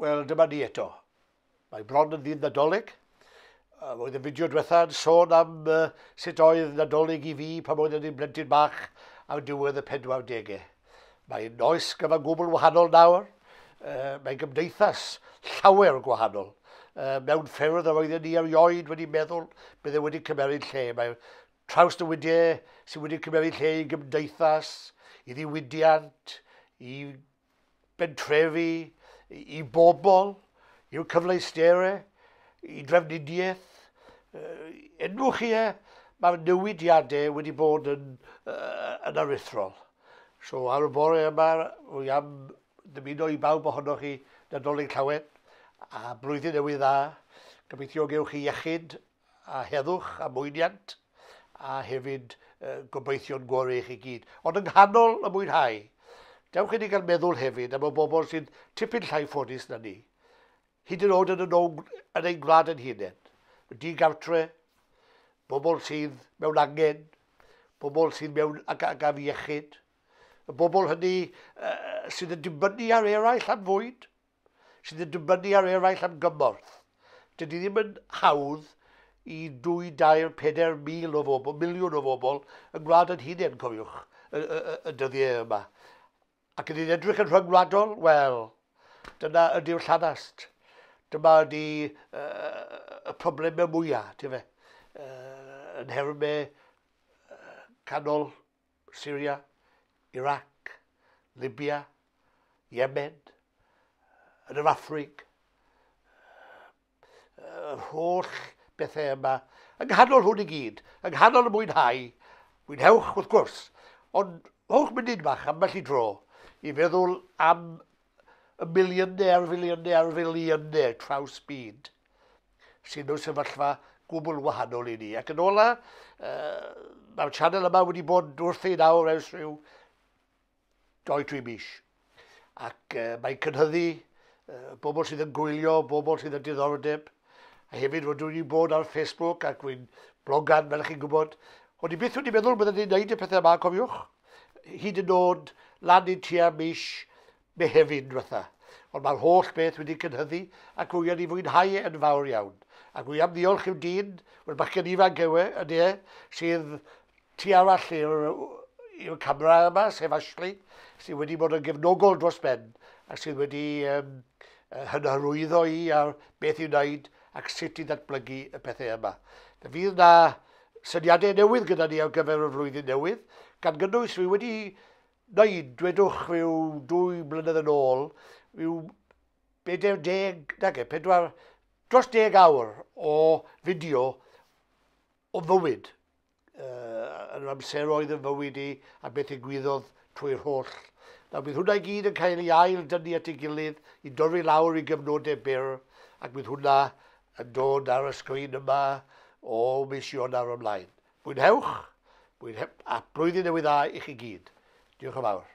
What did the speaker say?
Wel, dyma ni eto. Mae bron yn ddydd Nadolig. Roedd y fideo diwetha yn sôn am uh, sut oedd Nadolig i fi pan oeddwn i'n blentyn bach ar diwedd y 40au. Mae'n oes gyfan gwbl wahanol nawr. Uh, mae'n gymdeithas llawer gwahanol. Uh, mewn ffyrdd yr oedden ni erioed wedi meddwl bydde wedi cymeryd lle. Mae trawsnewidiau sydd wedi cymeryd lle i gymdeithas, i ddiwydiant, i bentrefi, i bobl, i'w cyfleusterau, i drefnidiaeth. Enwch chi e, mae'r newidiadau wedi bod yn, yn aruthrol. So ar y bore yma, rwy am ddymuno i bawb ohonoch chi Nadolig Llawen a blwyddyn newydd dda. Gobeithio gewch chi iechyd a heddwch a mwyniant, a hefyd gobeithio'n gorau i chi gyd. Ond yng nghanol y mwynhau, dewch i ni gael meddwl hefyd am y bobl sy'n tipyn llai ffodus na ni. Hyd yn oed yn, y yn ein gwlad yn hunain. Di-gartre, bobl sydd mewn angen, bobl sydd mewn ag, ag afiechyd, y bobl hynny uh, sydd yn dibynnu ar eraill am fwyd, sydd yn dibynnu ar eraill am gymorth. Dydy ddim yn hawdd i 2, 3, 4 mil o bobl, miliwn o bobl yn gwlad yn hunain, cofiwch, y, y, y, y dyddiau yma. Ac yn edrych yn rhyngwladol, wel, dyna ydy'r llanast. Dyma ydy uh, y problemau mwyaf, ti'n fe, uh, yn nhermau uh, canol Syria, Iraq, Libya, Yemen, yn yr Affrig, yr holl bethau yma, yng nghanol hwn i gyd, yng nghanol y mwynhau, mwynhewch wrth gwrs, ond rhowch munud bach ambell i dro i feddwl am y miliynau ar filiynau ar filiynau traws byd sydd mewn sefyllfa gwbl wahanol i ni. Ac yn ola, uh, mae'r channel yma wedi bod wrth ei nawr ers rhyw 2-3 mis. Ac uh, mae'n cynhyddu uh, bobl sydd yn gwylio, bobl sydd yn diddordeb. A hefyd rydw i'n bod ar Facebook ac wy'n blogan, fel chi'n gwybod. Ond i byth wedi meddwl byddwn ni'n gwneud y pethau yma, cofiwch. Hyd yn oed lan i tua mis Mehefin diwetha. Ond mae'r holl beth wedi cynhyddu ac rwy yn ei fwynhau yn fawr iawn. Ac rwy am ddiolch i'w dyn, wel bachgen ifanc yw e, ydy e, sydd tu arall i'r camera yma, sef Ashley, sydd wedi bod yn gefnogol dros ben ac sydd wedi um, hynhyrwyddo i ar beth i'w wneud ac sut i ddatblygu y pethau yma. Fe fydd na syniadau newydd gyda ni ar gyfer y flwyddyn newydd, gan gynnwys rwy wedi wneud, dwedwch rhyw dwy blynedd yn ôl, rhyw 40, nage, pedwar, dros deg awr o fideo o fywyd, uh, yn yr amseroedd yn fywyd i a beth ddigwyddodd trwy'r holl. Nawr bydd hwnna i gyd yn cael ei ail dynnu at ei gilydd i dorri lawr i gyfnodau byr ac bydd hwnna yn dod ar y sgrin yma o mis Ionawr ymlaen. Mwynhewch, mwynhe a blwyddyn newydd dda i chi gyd. Diolch yn fawr.